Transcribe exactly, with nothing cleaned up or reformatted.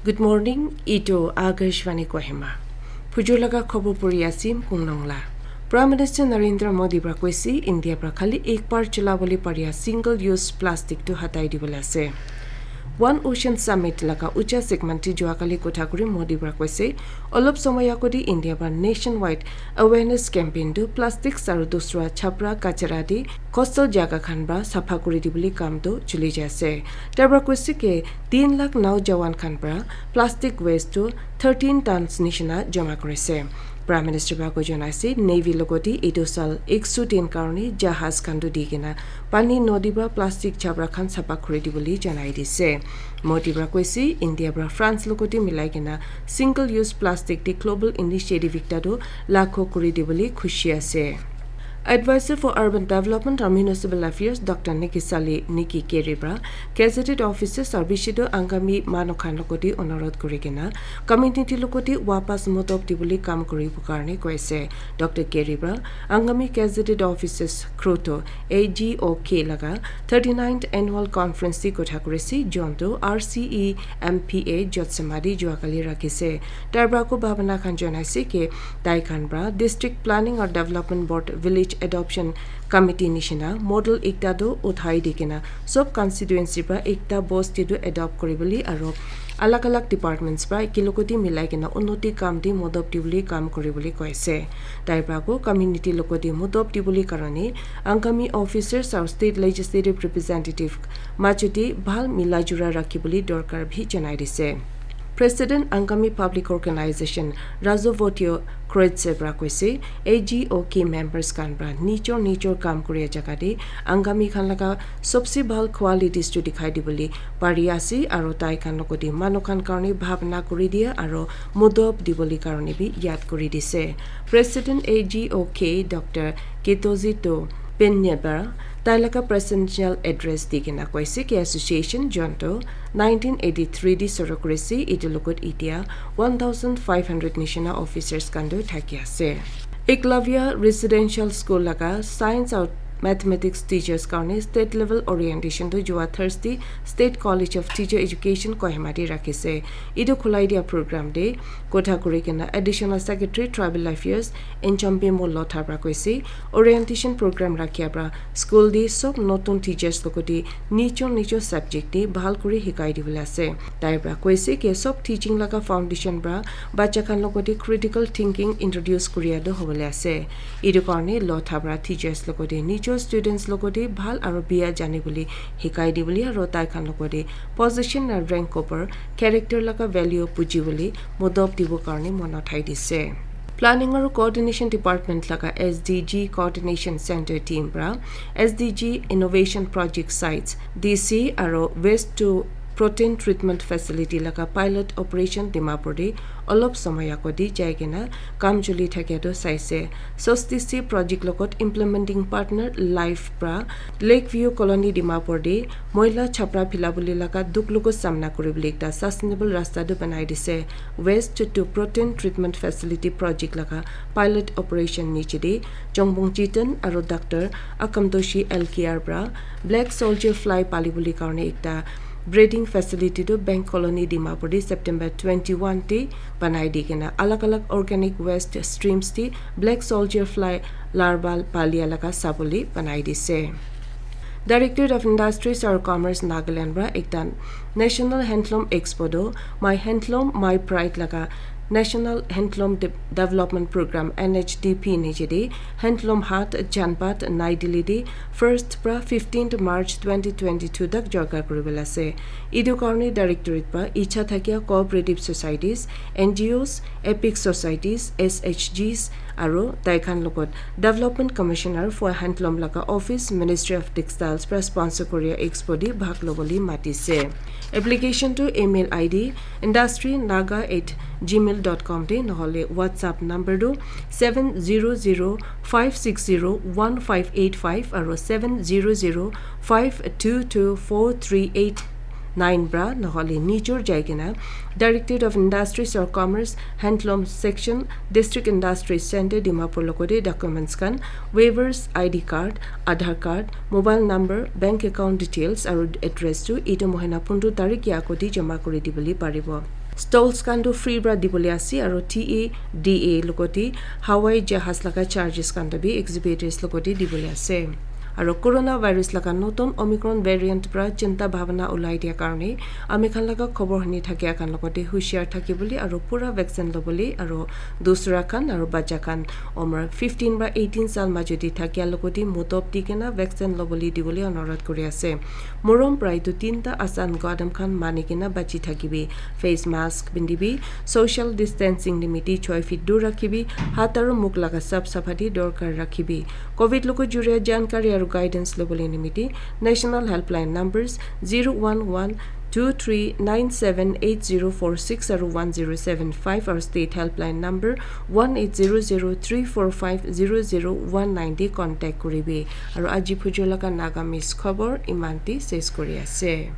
Good morning, etu Akashvani Kohima. Phujur laga khobor puri asim Kungnong la. Prime Minister Narendra Modi pra koise India pra khali ek bar chula bole paria single use plastic tu hatai dibole ase. One Ocean Summit laga ucha segment ti jua kali kotha kuri Modi pra koise, olop somoy agodi India pra nationwide awareness campaign tu plastics aru dusra chapra kachara di coastal jaga khan pra sapha kuri dibole kam tu chuli jai ase. Tar pra koise ke tin lakh naujawan khan pra plastic waste tu thirteen tons nishina jama kurise. Prime Minister pra ko jana ase, Navy logoti etu sal ek so din karone jahaz khan tu di kena pani nodi pra plastic chapra khan sapha kuri dibole janai dise. Modi pra koise, India pra France logoti milai kena single use plastic te global initiative ekta tu lakho kuri dibole khushi ase. Advisor for Urban Development and Municipal Affairs Doctor Nikisali Niki Keri pra gazetted officers aru bishi tu Angami manu khan logoti onurodh kuri kena community logoti wapas modop dibole kam kuribo karone koise. Doctor Keri pra Angami gazetted officers Kruto A G O K laga thirty-ninth annual conference ti kotha kurise, jontu R C E M P A Jotsema di jua kali rakhise. Tar pra ko bhabana khan janaise ke tai khan pra district planning or development board village adoption committee nishina model ekta tu uthai di kena sob constituency pra ekta boss ti tu adopt kuri bole aru alag alag departments pra eki logoti milai kena unnoti kam ti modop dibole kam kuri bole koise. Tai pra ko community logoti modop dibole karone Angami officers aru state legislative representative majuti bhal mila jura rakhi bole dorkar bhi janai dise. President Angami Public Organization Razovotio Kroitse pra koise, A G O K members khan pra nijor nijor kam kuria jaga te Angami khan laga sobse bhal qualities tu dikhai dibole pari ase aru tai khan logoti manu khan karone bhabna kuri dia aru modop dibole karone bi yad kuri dise. President A G O K Doctor Ketozito Penyebar tai laga presidential address di kena koise ke association jontu nineteen eighty-three di suru kurise, etu logot itia one thousand five hundred nishina officers khan tu thaki ase. Eklavya Residential School laga science aru mathematics teachers karone state level orientation tu jua Thursday State College of Teacher Education Kohima te rakhise. Etu khulai dia program te kotha kuri kena Additional Secretary Tribal Affairs Enchombe Molotha pra koise, orientation program rakhia pra school te sob notun teachers logoti nijor nijor subject te bhal kuri hikai dibole ase. Tai pra koise ke sob teaching laga foundation pra bacha khan logoti critical thinking introduce kuria tu hobole ase. Etu karone Lotha pra teachers logoti nijor students logoti bhal aru bia jani bole hikai dibole aru tai khan logoti position na rank upor character laga value buji bole modop dibo karone mon uthai dise. Planning aru Coordination Department laga S D G Coordination Center team pra S D G Innovation Project Sites, D C aru Waste to Protein Treatment Facility laga pilot operation Dimapur te olop somoy agodi jai kena kam chuli thakia tu saise. Sostisi project logot implementing partner Life pra Lakeview Colony Dimapur te moila chapra phila bole laga dukh logot samna kuri bole ekta sustainable rasta tu banai dise. Waste to Protein Treatment Facility project laga pilot operation niche te Chongbong Chitan aru Doctor Akamtoshi L K R pra black soldier fly pali bole karone ekta breeding facility tu Bank Colony Dimapur te September twenty-one te banai di kena alag alag organic waste streams te black soldier fly larval palia laga sabole banai dise. Directorate of Industries aru Commerce Nagaland pra ekta National Handloom Expo tu My Handloom My Pride laga National Handloom De- Development Program N H D P niche te Handloom Haat Janpath Nai Delhi te first pra fifteenth March twenty twenty-two tak jorka kuri bole ase. Etu karone directorate pra icha thakia cooperative societies, N G Os, epic societies, S H Gs aru tai khan logot Development Commissioner for Handloom laga office Ministry of Textiles pra sponsor kuria expo te bhag lobole matise. Application tu email I D industry naga at gmail dot com te nohole WhatsApp number tu seven zero zero five six zero one five eight five aru seven zero zero five two two four three eight nine pra nohole nijor jai kena Directorate of Industries or Commerce Handloom Section District Industries Center Dimapur logote documents khan waivers, I D card, Aadhaar card, mobile number, bank account details aru address tu etu mohina pondro tarik ya agodi jama kuri dibole paribo. Stalls khan tu free para dibole ase, aro T A D A logote hawai jahaz laga charges khan tu bi exhibitors logote dibole ase. Aro coronavirus laga notun Omicron variant para chinta bhabana ulai dia karne ami khan laga khobor huni thakia khan logote hushiar thaki bole aro pura vaccine lobole aro dusra khan aro bacha khan umar fifteen para eighteen sal majute thakia logote mutop di kena vaccine lobole dibole onurodh kuri ase. Morom prai tu tinta asan gadam khan mani kena bachi thakibi. Face mask pindibi, social distancing nimiti choi feet dur rakhibi, hat aro muk laga sap saphati dorkar rakhibi. Covid logo juria jankari aro guidance lobole nimiti National Helpline numbers zero one one two three nine seven eight zero four six aro one zero seven five aro State Helpline number one eight zero zero three four five zero zero one nine te contact kuribi. Aro aji phujur laga Nagamese khobor iman te ses kuri ase.